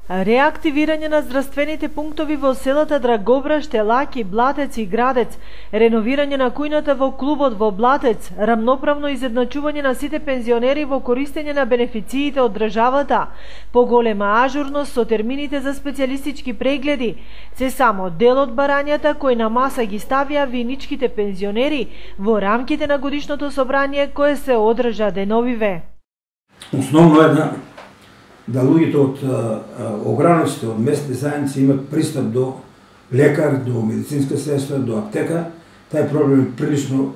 Реактивирање на здравствените пунктови во селата Драгобраш, Телаки, Блатец и Градец, реновирање на кујната во клубот во Блатец, рамноправно изедначување на сите пензионери во користење на бенефициите од државата, поголема ажурност со термините за специјалистички прегледи, се само дел од барањата кои на маса ги ставија виничките пензионери во рамките на годишното собрание кое се одржа деновиве. Основно е да луѓето од ограниците, од местни заедници имат пристап до лекар, до медицинска средства, до аптека. Тај проблем прилично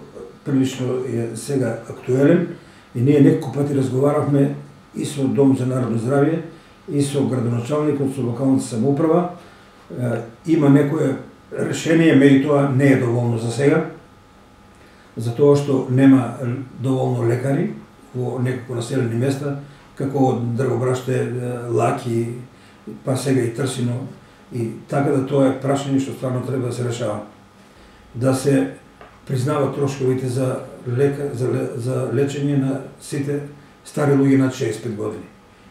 е сега актуелен и ние неколку пати разговаравме и со Дом за народно здравје, и со градоначалникот, со локалната самоуправа. Има некое решение, меѓутоа не е доволно за сега, затоа што нема доволно лекари во неколку населени места, како од Драгобраште, Лаки, па сега и Трсино, и така да тоа е прашање што стварно треба да се решава. Да се признават трошковите за лечење на сите стари луѓе над 65 години.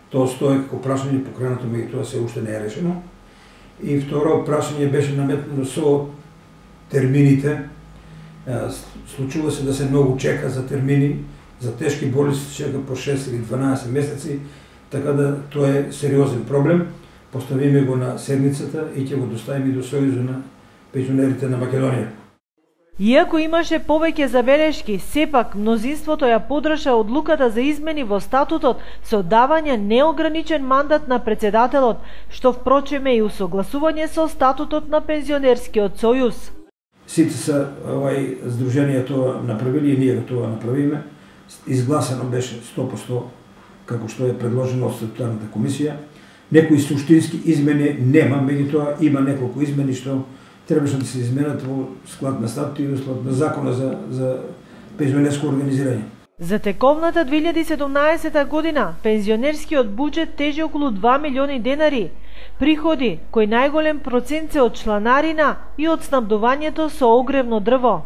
Тоа стои како прашање покренато, меѓутоа се уште не е решено. И второ прашање беше наметнато со термините. Случува се да се многу чека за термини, за тешки болести чека по 6 или 12 месеци, така да тоа е сериозен проблем. Поставиме го на седницата и ќе го доставиме до Сојузот на пензионерите на Македонија. Иако имаше повеќе забелешки, сепак мнозинството ја подржа одлуката за измени во статутот со давање неограничен мандат на претседателот, што впрочем е и усогласување со статутот на Пензионерскиот сојуз. Сите се здруженија тоа направили и ние тоа направиме. Изгласано беше 100% како што е предложено од статутарната комисија. Некои суштински измени нема, меѓутоа има неколку измени што требаше да се изменат во склад на статут и во склад на закона за пензионерско организирање. За тековната 2017 година пензионерскиот буџет тежи околу 2 милиони денари, приходи кои најголем процент се од чланарина и од снабдувањето со огревно дрво.